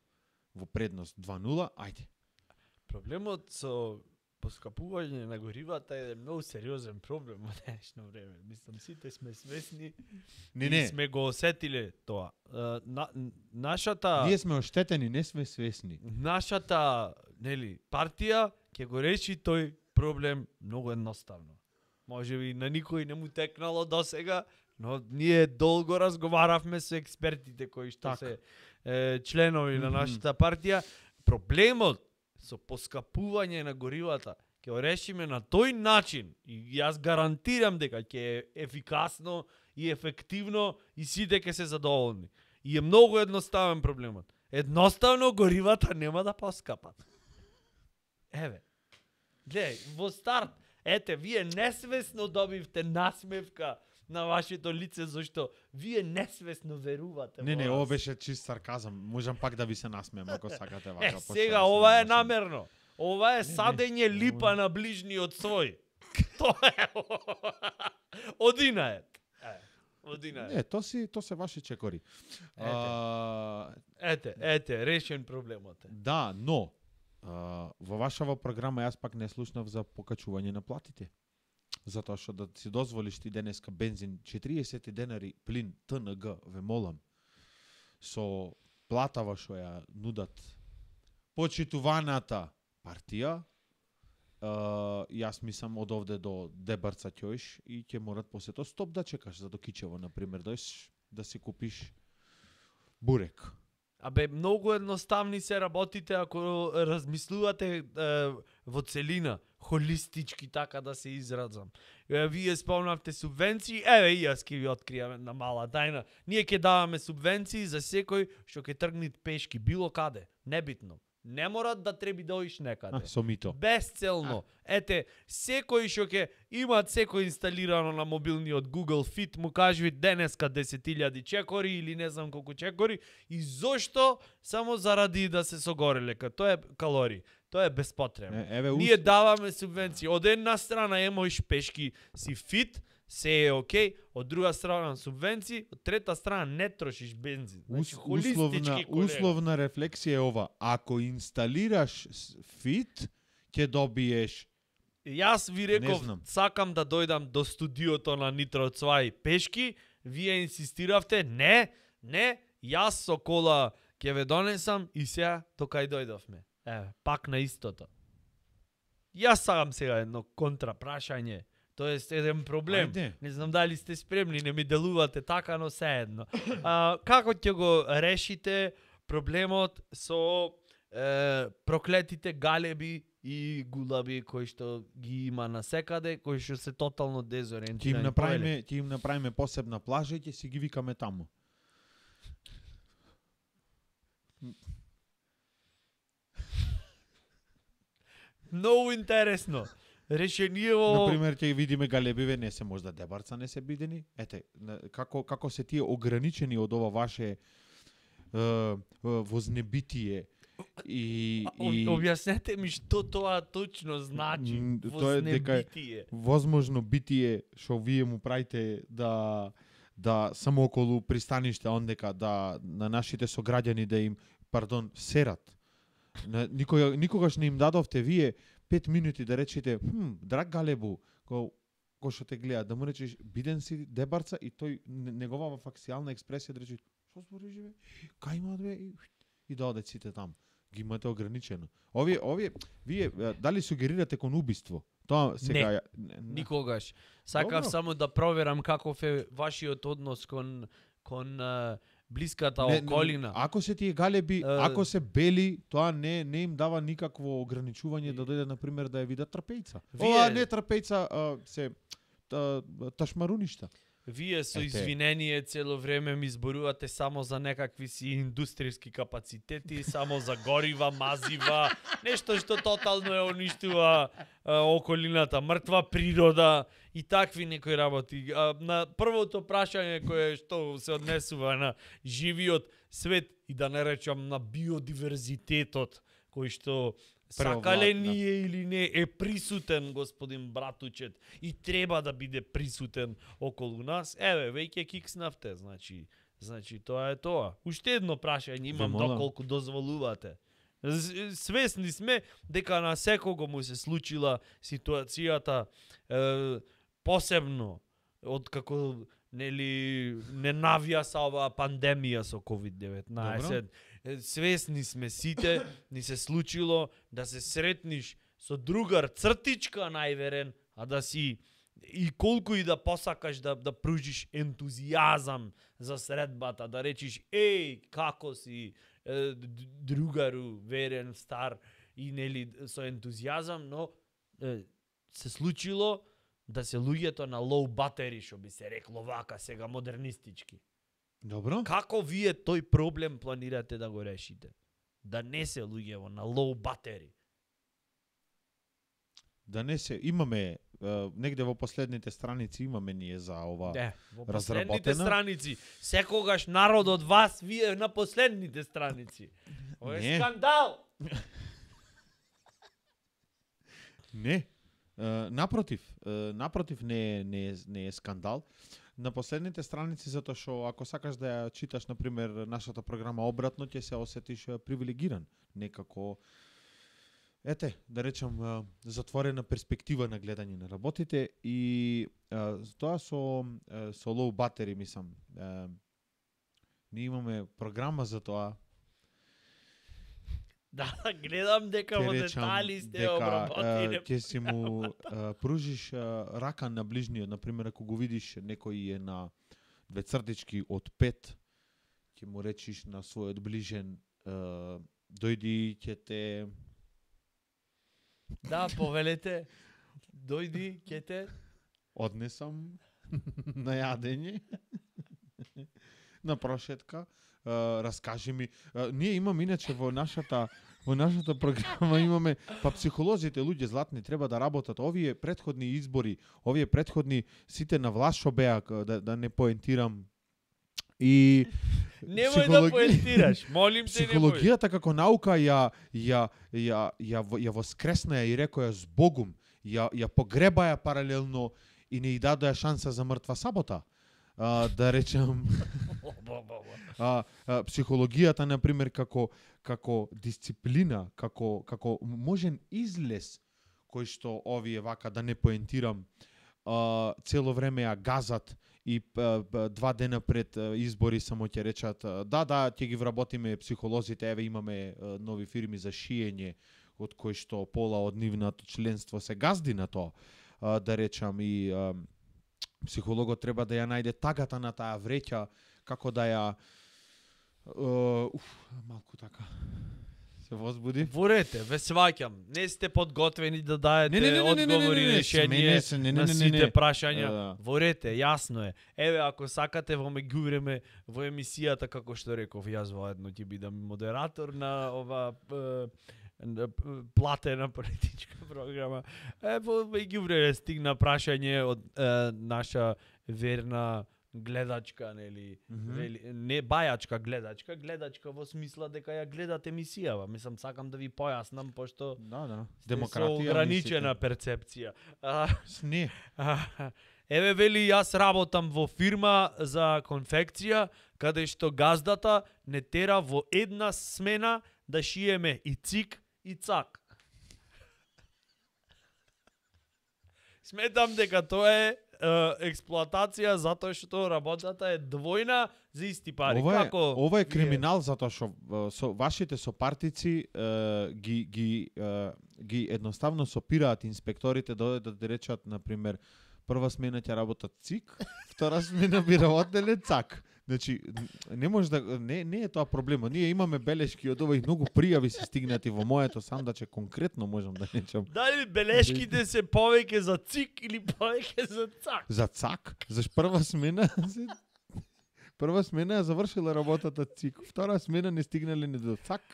во предност 2-0, ајде. Проблемот со поскапување на горивата е многу сериозен проблем во днешно време. Мислам, сите сме свесни и Не. сме го осетиле тоа. Нашата... Ние сме оштетени, не сме свесни. Нашата, нели, партија ќе го реши тој проблем многу едноставно. Може би на никој не му текнало досега, но ние долго разговаравме со експертите кои што се членови на нашата партија. Проблемот со поскапување на горивата ќе го решиме на тој начин и јас гарантирам дека ќе е ефикасно и ефективно и сите ќе се задоволни. И е многу едноставен проблемот. Едноставно горивата нема да поскапат. Еве. Гледај, во старт, ете, вие несвесно добивте насмевка на вашето лице, зашто вие несвесно верувате во Не, нас. ова беше чист сарказам. Можам пак да ви се насмеам ако сакате вака. пошто Сега јас ова не е можам. намерно. Ова е садење липа на ближниот свој. Тоа е. Одинает. Одинает. Не, то се ваши чекори. Ете, решен проблемот е. Да, но во вашава програма јас пак не слушнав за покачување на платите. Затоа што да си дозволиш ти денеска бензин 40 денари, плин ТНГ, ве молам, со платава што ја нудат почитуваната партија, јас мислам од овде до Дебарца ќоиш и ќе морат после тоа стоп да чекаш за до Кичево, например, дојш да си купиш бурек. Абе, многу едноставни се работите ако размислувате во целина, холистички, така да се изразам. Вие спомнавте субвенции, еве и јас ќе ви откријам една мала тајна. Ние ќе даваме субвенции за секој што ќе тргне пешки било каде, небитно. Не морат да треби да оиш некаде. Со мито. Безцелно. Ете, секој што ќе имаат секој инсталирано на мобилниот Google Fit, му кажи денеска 10.000 чекори или не знам колку чекори и зошто само заради да се согореле, тоа е калории. Тоа е безпотребно. Ние даваме субвенции. Од една страна емоиш пешки си фит, се е окей, од друга страна субвенции, од трета страна не трошиш бензин. Значи, условна рефлексија е ова. Ако инсталираш фит, ќе добиеш. Јас ви реков, сакам да дојдам до студиото на Нитро Цвај пешки, вие инсистиравте, не, јас со кола ќе ве донесам и сега токај дојдовме. Еве, пак на истото. Јас сакам сега едно контрапрашање. Тоест, еден проблем. Ајде. Не знам дали сте спремни, не ми делувате така, но се едно. Како ќе го решите проблемот со проклетите галеби и гулаби кои што ги има насекаде, кои што се тотално дезориентирани? Ќе им направиме посебна плажа и ќе си ги викаме таму. Многу интересно. решението... Например, ќе видиме галебиве, не се можда дебарца, не се бидени. Ете, како се тие ограничени од ова ваше вознебитие и Објаснете ми што тоа точно значи. Тоа е дека возможно битие што вие му правите да само околу пристаниште, ондека да на нашите сограѓани да им, серат. Никогаш не им дадовте вие 5 минути да речете, драг Галебу, кој што те гледа, да му речеш биден си дебарца и тој неговава факсијална експресија да рече што збориш бе? Кај има бе? И да одат сите там. Ги имате ограничено. Овие вие дали сугерирате кон убиство? Тоа сега никогаш. Сакав само да проверам каков е вашиот однос кон блиската околина. Ако се тие галеби, ако се бели, тоа не им дава никакво ограничување да дојде на пример да ја видат трпејца. Ова не трпејца, се ташмаруништа. Вие со извинение цело време ми зборувате само за некакви си индустријски капацитети, само за горива, мазива, нешто што тотално е уништува околината, мртва природа и такви некои работи. На првото прашање кое што се однесува на живиот свет и да не речам на биодиверзитетот, кој што сакале ние или не е присутен, господин Братучет, и треба да биде присутен околу нас. Еве, веќе кикснавте, значи тоа е тоа. Уште едно прашање имам, доколку дозволувате. Свесни сме дека на секого му се случила ситуацијата посебно од како не навија са оваа пандемија со COVID-19. Свесни сме сите, ни се случило да се сретниш со другар цртичка најверен, а да си и колку и да посакаш да пружиш ентузијазам за средбата, да речиш како си другару верен, стар и со ентузијазам, но се случило да се луѓето на low battery, што би се рекло вака сега модернистички. Добро. Како вие тој проблем планирате да го решите? Да не се луѓево на low battery. Да не се, имаме негде во последните страници имаме ние за ова во последните страници. Секогаш народ од вас, вие на последните страници. Ова е скандал. Не. Напротив не е скандал. На последните страници, затоа што ако сакаш да ја читаш, например, нашата програма обратно, ќе се осетиш привилегиран. Некако, да речам, затворена перспектива на гледање на работите и тоа со low battery, мислам. Ние имаме програма за тоа. Да, гледам дека во детали сте обработили. Ќе си му пружиш рака на ближниот, например, ако го видиш некој е на 2 цртички од 5, ќе му речиш на својот ближен дојди, ќе те... Да, повелете, дојди, ќе те... Однесам на јадење, на прошетка. Раскажи ми. Ние имаме иначе во нашата програма имаме психолозите, луѓе златни треба да работат. Овие претходни избори, овие претходни сите на власт што беа, да не поентирам. И немој да поентираш, молим те, психологијата како наука ја воскресна и рекоја с Богум, ја погребаја паралелно и не и дадоа шанса за мртва сабота. Да речам психологијата, например, како дисциплина, како можен излез кој што овие вака, да не поентирам, цело време ја газат и 2 дена пред избори само ќе речат ќе ги вработиме психолозите, еве имаме нови фирми за шиење од кои што пола од нивното членство се газди на тоа, да речам, и психологот треба да ја најде тагата на таа вреќа, како да ја малку така се возбуди. Ворете, ве сваќам. Не сте подготвени да даете одговори и решение на сите прашања. Ворете, јасно е. Еве, ако сакате во меѓувреме во емисијата, како што реков, јас воедно ќе бидам модератор на ова платена политичка програма. Во меѓувреме стигна прашање од наша верна гледачка, нели, не бајачка гледачка во смисла дека ја гледат емисијава. Мислам, сакам да ви појаснам, пошто демократија, со ограничена перцепција. Не. Еве вели, јас работам во фирма за конфекција, каде што газдата не тера во една смена да шиеме и цик и цак. Сметам дека тоа е експлоатација затоа што работата е двојна за исти пари. Ова е криминал затоа што со вашите сопартици ги едноставно сопираат инспекторите да речат, на пример, прва смена ќе работат цик, втора смена би работеле цак. Значи, не може да не е тоа проблемот. Ние имаме белешки од ова и многу пријави се стигнати во моето сандаче, конкретно можам да речам. Дали белешките се повеќе за цик или повеќе за цак? За цак, заш прва смена ја завршила работата цик, втора смена не стигнале ни до цак.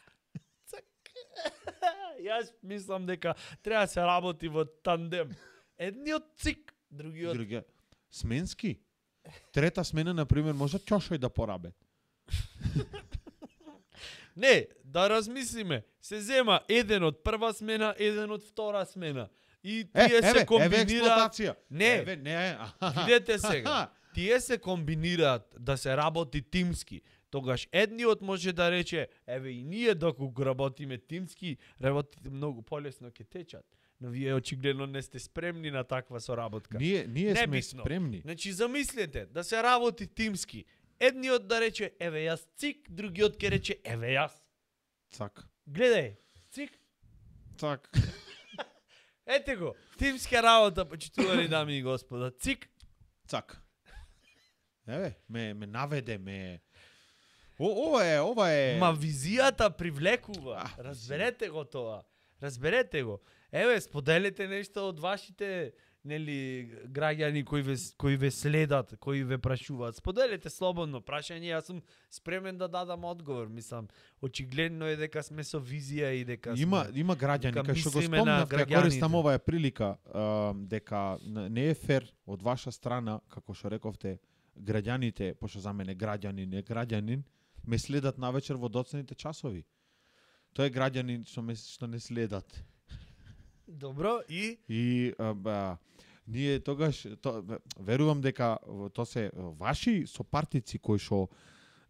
Јас мислам дека треба се работи во тандем. Едниот цик, другиот сменски. Трета смена, на пример, може ќошој да порабе. Не, да размислиме. Се зема еден од прва смена, еден од втора смена. И тие се комбинираат. Не, видете сега. Тие се комбинираат да се работи тимски. Тогаш едниот може да рече, еве и ние доколку работиме тимски, работите многу полесно ќе течат. Но вие очигледно не сте спремни на таква соработка. Ние сме спремни. Значи замислете, да се работи тимски. Едниот да рече, еве јас цик, другиот ќе рече, еве јас цак. Гледај, цик, цак. Ете го, тимска работа, почитувани дами и господа. Цик, цак. Еве, ме наведе, Ова е... Ма визијата привлекува. Разберете го тоа. Разберете го. Еве, споделете нешто од вашите, нели, граѓани кои ве следат, кои ве прашуваат. Споделете слободно прашање, јас сум спремен да дадам одговор. Мислам, очигледно е дека сме со визија и дека има граѓани кај што го спомнавте, користам оваа прилика, дека не е фер од ваша страна, како што рековте, граѓаните, пошто за мене граѓанин, ме следат навечер во доцните часови. Тоа е граѓанин што не следат. Добро, и ние тогаш верувам дека тоа се ваши сопартици кои што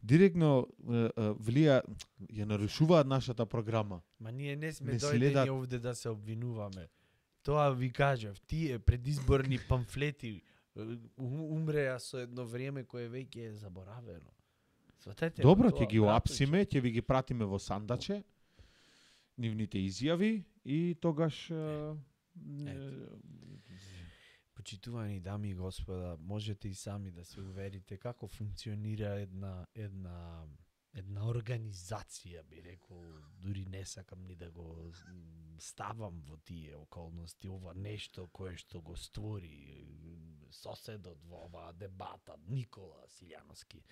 директно ја нарушуваат нашата програма. Ма ние не сме дојдени овде да се обвинуваме. Тоа ви кажав, тие предизборни памфлети умреа со едно време кое веќе е заборавено. Сватете. Добро, ќе ги оапсиме, ќе ви ги пратиме во сандаче, нивните изјави и тогаш... Почитувани дами и господа, можете и сами да се уверите како функционира една организација, би рекол, дури не сакам ни да го ставам во тие околности, ова нешто кое што го створи соседот во оваа дебата, Никола Силјановски,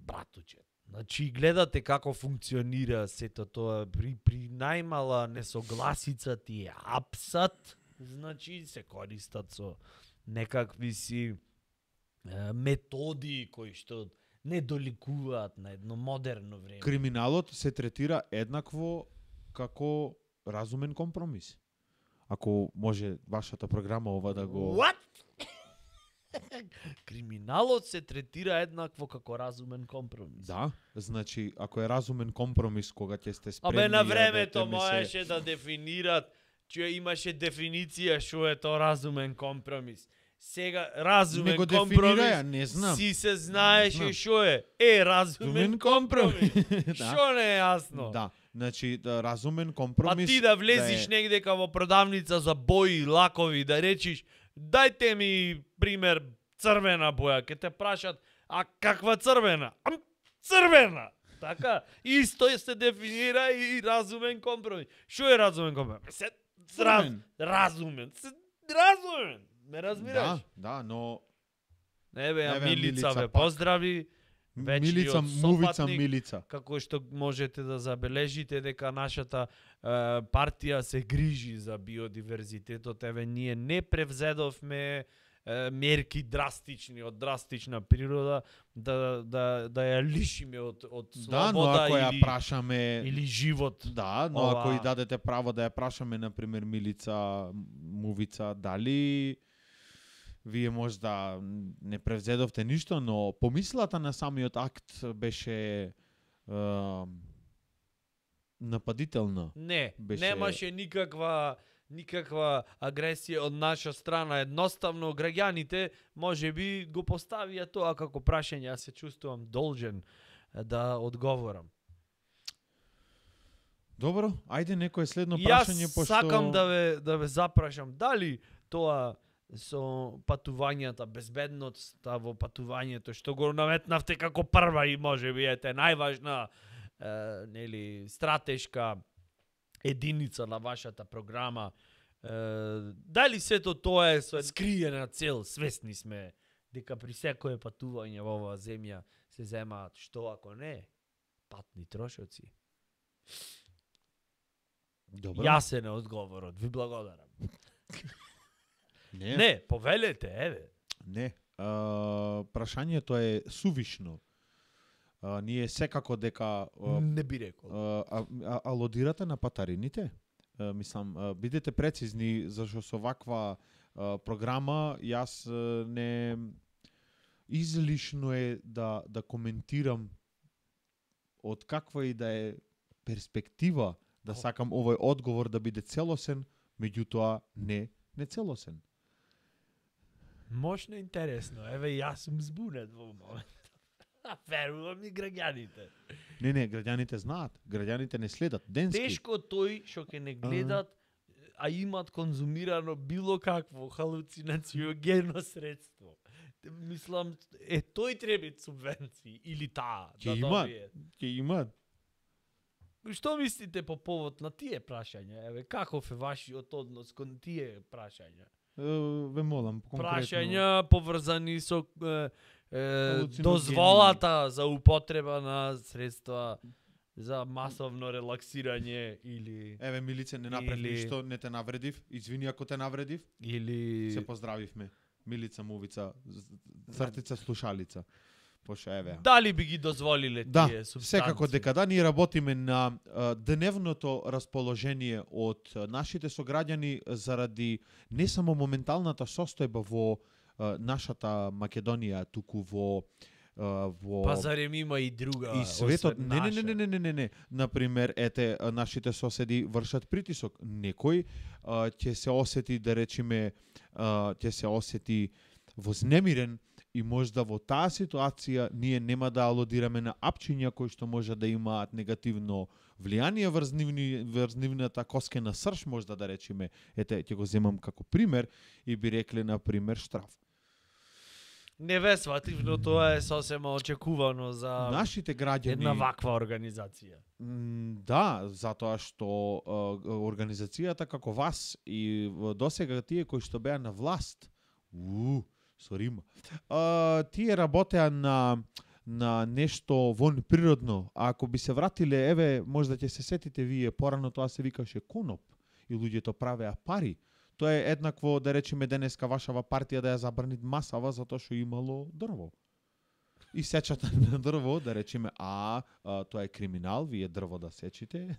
братуче. Значи, гледате како функционира сето тоа, при најмала несогласица ти е апсат, значи се користат со некакви си методи кои што не доликуваат на едно модерно време. Криминалот се третира еднакво како разумен компромис. Ако може вашата програма ова да го... What? Криминалот се третира еднакво како разумен компромис. Да, значи, ако е разумен компромис кога ќе сте спремни... Абе, на времето можеше да дефинират, че имаше дефиниција што е тоа разумен компромис. Сега разумен компромис не знам. Си се знаеше што е. Разумен компромис. Што не е јасно? Да, значи разумен компромис. А ти да влезиш негде во продавница за бои, лакови, да речиш, дајте ми пример црвена боја, ке те прашат, а каква црвена? Црвена! Така, исто се дефинира и разумен компромис. Што е разумен компромис? Разумен. Ме разбираш? Да, но... Милица ве поздрави. Милица, вечниот Мувица, сопатник, Милица. како што можете да забележите дека нашата партија се грижи за биодиверзитетот, еве ние не превзедовме мерки драстични од драстична природа да ја лишиме од Да, но слобода ако ја или прашаме или живот. Да, но ако и дадете право да ја прашаме, например, Милица, Мувица, дали вие можда не превзедовте ништо, но помислата на самиот акт беше нападителна. Не, беше... немаше никаква агресија од наша страна. Едноставно граѓаните можеби го поставија тоа како прашање, јас се чувствувам должен да одговорам. Добро, ајде некое следно прашање, Јас сакам да ве запрашам, дали тоа со патувањата, безбедноста во патувањето, што го наметнавте како прва и можеби ете најважна нели стратешка единица на вашата програма, дали сето тоа е со скриена цел? Свесни сме дека при секое патување во оваа земја се земаат, што ако не, патни трошоци. Добро. Јасен е одговорот, ви благодарам. Не, повелете, еве. Не, прашањето е сувишно. Ние секако дека не би рекол. алодирате на патарините. Мислам, бидете прецизни, зашто со ваква програма јас не излишно е да коментирам од каква и да е перспектива да сакам овој одговор да биде целосен, меѓутоа не целосен. Мощно интересно. Еве јас сум збунет во момент. Верувам и граѓаните. Не, граѓаните знаат. Граѓаните не следат денски. Тешко тој што ќе не гледат, а имат конзумирано било какво халуцинациогено средство. Мислам, тој треба субвенции или таа да добие. Ќе имат. Што мислите по повод на тие прашања? Еве, каков е вашиот однос кон тие прашања? Ве молам, конкретно. Прашања поврзани со дозволата за употреба на средства за масовно релаксирање или... Еве, Милице, не направив ништо, не те навредив. Извини ако те навредив. Или... Се поздравивме. Милица, Мувица, цртица, слушалица. Пошто еве. Дали би ги дозволиле тие субстанции? Секако дека да, ние работиме на дневното расположение од нашите сограѓани заради не само моменталната состојба во нашата Македонија, туку во Па зарем има и друга и светот. Не. Например, нашите соседи вршат притисок. Некој ќе се осети, да речеме, ќе се осети вознемирен и можда во таа ситуација ние нема да алодираме на апчиња кои што може да имаат негативно влијание врз нивната коскена срж, можда да речеме. Ќе го земам како пример и би рекле, на пример, штраф. Не ве сватив, но тоа е сосема очекувано за нашите граѓани. Една ваква организација. Да, затоа што организацијата како вас и досега тие кои што беа на власт, сорима, тие работеа на нешто вон природно. А ако би се вратиле, еве, можда ќе се сетите вие, порано тоа се викаше коноп и луѓето правеа пари. Тоа е еднакво, да речеме, денеска вашава партија да ја забрани масава затоа што имало дрво. И сечата на дрво, да речеме, тоа е криминал, вие дрво да сечите.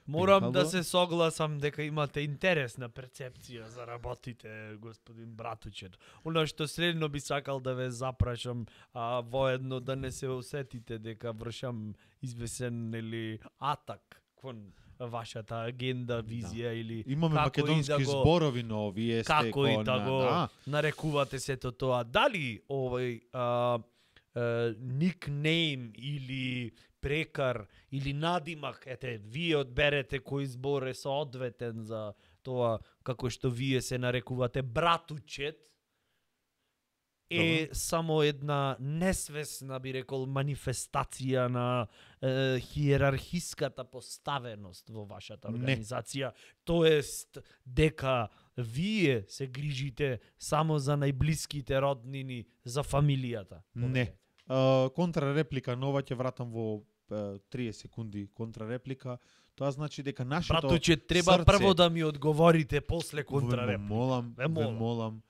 Морам да се согласам дека имате интересна перцепција за работите, господин Братучет. Оно што средно би сакал да ве запрашам, воедно да не се осетите дека вршам извесен или атак кон вашата агенда, визија или имаме македонски зборови, но вие сте како и да го нарекувате сето тоа. Дали овој никнейм или прекар или надимак, вие одберете кој збор е соодветен за тоа како што вие се нарекувате Братучет, е само една несвесна, би рекол, манифестација на хиерархиската поставеност во вашата организација. Тоест, дека вие се грижите само за најблиските роднини, за фамилијата. Не. контрареплика нова ќе вратам во 30 секунди контрареплика. Тоа значи дека нашето Братуче, треба срце... прво да ми одговорите после Ве контрареплика. молам, Ве молам. ве молам.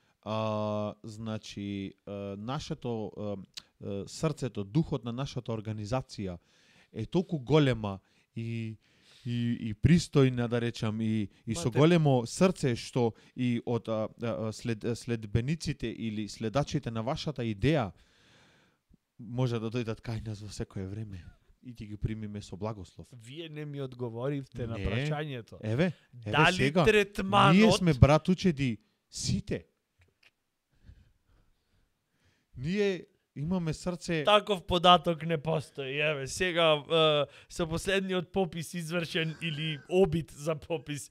Значи, нашето срцето, духот на нашата организација е толку голема и пристојна, да речам, и со големо срце, што и од следбениците или следачите на вашата идеја може да дојдат кај нас во секое време и ќе ги примиме со благослов. Вие не ми одговоривте на Не. прашањето. Еве Дали сега, третманот... ние сме братучеди сите. Ние имаме срце... Таков податок не постои. Еве, сега со последниот попис извршен или обид за попис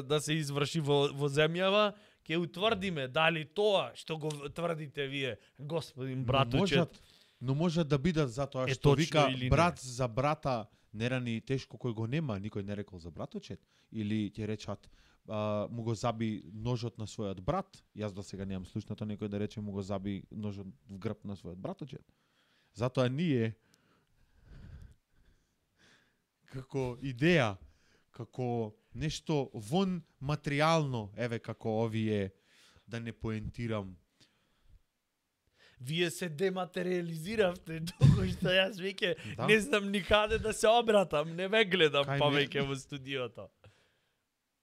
да се изврши во земјава, ќе утврдиме дали тоа што го тврдите вие, господин братучет, Но можат да бидат затоа Е, што точно вика или не? брат за брата не рани тешко кој го нема, никој не рекол за браточет. Или ќе речат му го заби ножот на својот брат. Јас до сега немам слушнато некој да рече му го заби ножот в грб на својот браточет. Затоа ние како идеја, како нешто вон материјално, еве како овие, да не поентирам, вие се дематериализиравте, докато што јас веќе Да. не знам никаде да се обратам, не ме гледам Кај повеќе во студиото.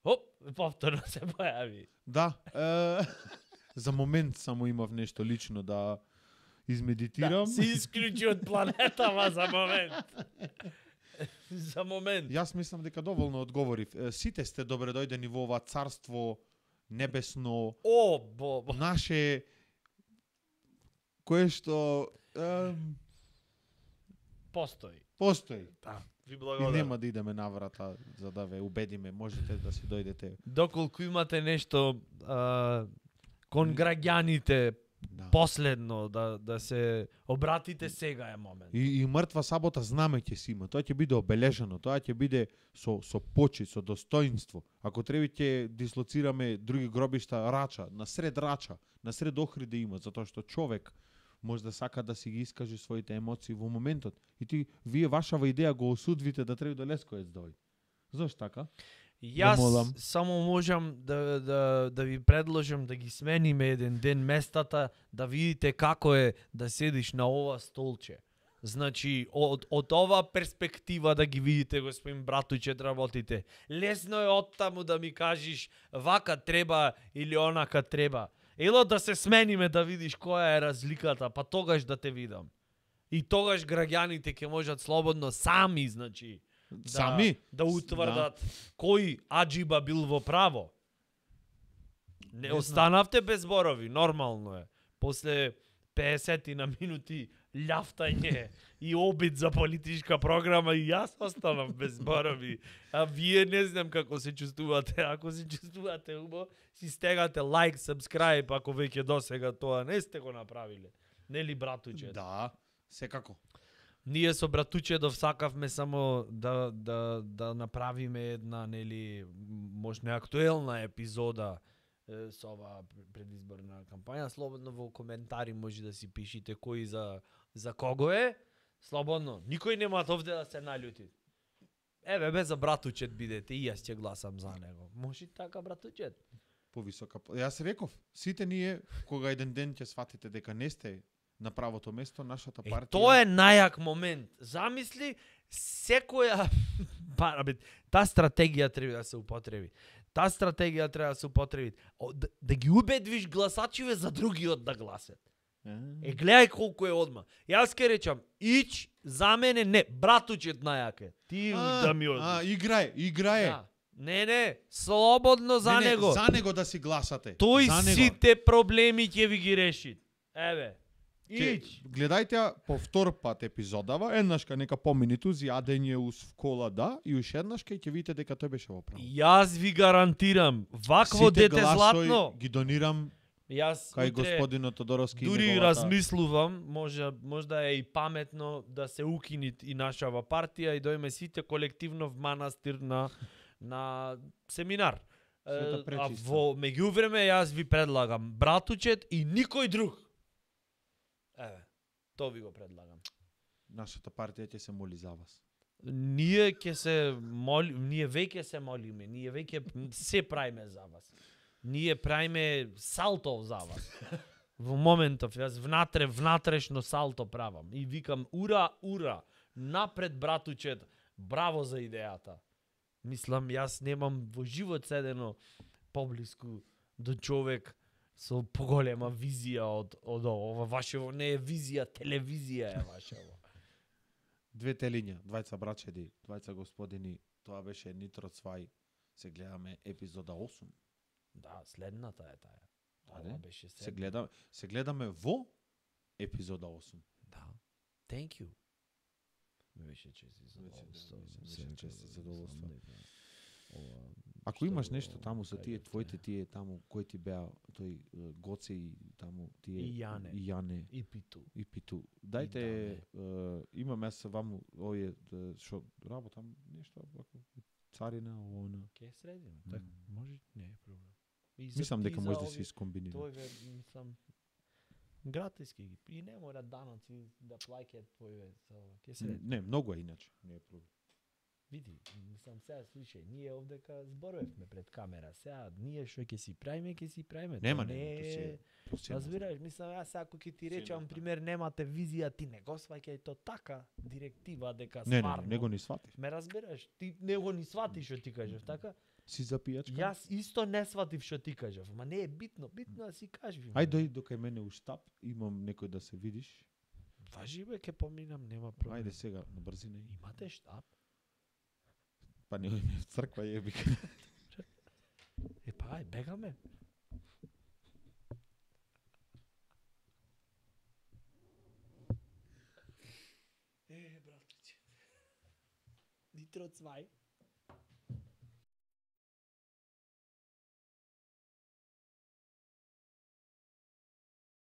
Оп, повторно се појави. да, за момент само имав нешто лично да измедитирам. Да, се исклучи од планетава за момент. За момент. Јас мислам дека доволно одговорив. Сите сте добре дојдени во ова царство небесно, О, бо. наше, кое што Постои. постои. Да. Ви И благодарам. нема да идеме наврата за да ве убедиме, можете да си дојдете. Доколку имате нешто кон граѓаните Да. последно да се обратите, сега е момент. И мртва сабота знаме ќе си има. Тоа ќе биде обележано, тоа ќе биде со почит, со достоинство. Ако треба ќе дислоцираме други гробишта Рача, на сред Рача, на сред Охриде има, затоа што човек може да сака да си ги искаже своите емоции во моментот. И вие вашава идеја го осудвите да треба до Лесковец дојде. Зошто така? Јас молам. само можам да ви предложам да ги смениме еден ден местата, да видите како е да седиш на ова столче. Значи, од ова перспектива да ги видите, господин Братучет, работите. Лесно е оттаму да ми кажеш вака треба или онака треба. Ело да се смениме да видиш која е разликата, па тогаш да те видам. И тогаш граѓаните ќе можат слободно сами, значи, Сами? да утврдат кој аџиба бил во право. Не знам. останавте без зборови, нормално е. После 50 на минути љафтање и обид за политичка програма и јас останав без зборови. А вие не знам како се чувствувате. Ако се чувствувате убаво, си стегате лайк, subscribe, ако веќе досега тоа не сте го направиле. Нели, братуче? Да, секако. Ние со братучедов сакавме само да направиме една, нели, можна актуелна епизода со оваа предизборна кампања. Слободно во коментари може да си пишите кој за кого е. Слободно. Никој нема овде да се наљути. Еве, бе за братучет бидете и јас ќе гласам за него. Може така, братучет? Повисока. Јас реков, сите ние кога еден ден ќе сватите дека не сте на правото место, нашата партија. Тоа е најак момент. Замисли, секоја таа стратегија треба да се употреби. Таа стратегија треба да се употреби. Да ги убедвиш гласачиве за другиот да гласат. Гледај колку е одма. Јас ке речам, ич за мене не, братучет најак е. Ти да ми одиш. Играе. Да. Не, слободно за Не, него. за него да си гласате. Тој За него. сите проблеми ќе ви ги реши. Еве. Ич. Гледајте ја по втор пат епизодава, еднашка нека помини тузи јадење в кола, да, и уште еднашка ќе видите дека тој беше во право. Јас ви гарантирам, вакво Сите дете гласови златно. ги донирам Јас кај утре господинот Тодоровски. и дури неговата- размислувам, можда е и паметно да се укини и нашава партија и дојме сите колективно в манастир на семинар. Света А пречиста. во меѓувреме јас ви предлагам братучет и никој друг. Еве. То ви го предлагам. Нашата партија ќе се моли за вас. Ние веќе се молиме, ние веќе се правиме за вас. Ние правиме салто за вас. Во моментов, јас внатрешно салто правам и викам ура, напред братучет, браво за идејата. Мислам, јас немам во живот седено поблиску до човек со поголема визија од ова вашево, не е визија, телевизија е вашево. Две телиња, двајца брачеди, двајца господини, тоа беше Нитро Цвај. Се гледаме епизода 8. Да, следната е таа. Ова беше Се гледаме во епизода 8. Да. Thank you. Ме беше чест и задоволство. Ако имаш нешто таму со тие твоите тие таму кои ти беа тој Гоце и таму тие И Јане. и Питу. Дајте имам јас ваму овие што работам нешто ако царина она. Ке средиме, така. Може, не е проблем. Мислам дека може да се искомбинира. Тој мислам гратиски ги. И не мора даноци да плаќаат твоје со ке се. Не, многу е иначе, не е проблем. Види, мислам сега слушај, ние овдека зборувавме пред камера, сега ние што ќе си правиме. Нема, не. Разбираш, мислам јас ако ќе ти речам пример немате визија, ти не го сваќај то така директива дека стварно. Не го ни сватив. Ме разбираш, ти не го ни сватиш што ти кажав, така? Си за пијачка? Јас исто не сватив што ти кажав, ама не е битно да си кажеш. Ај дој дока мене у штаб, имам некој да се видиш. Важи бе, ке поминам, нема проблем. Ајде сега на брзина. Имате штаб? Па не ми в црква јебик. Па ај, бегаме. Братче. Нитро Цвај.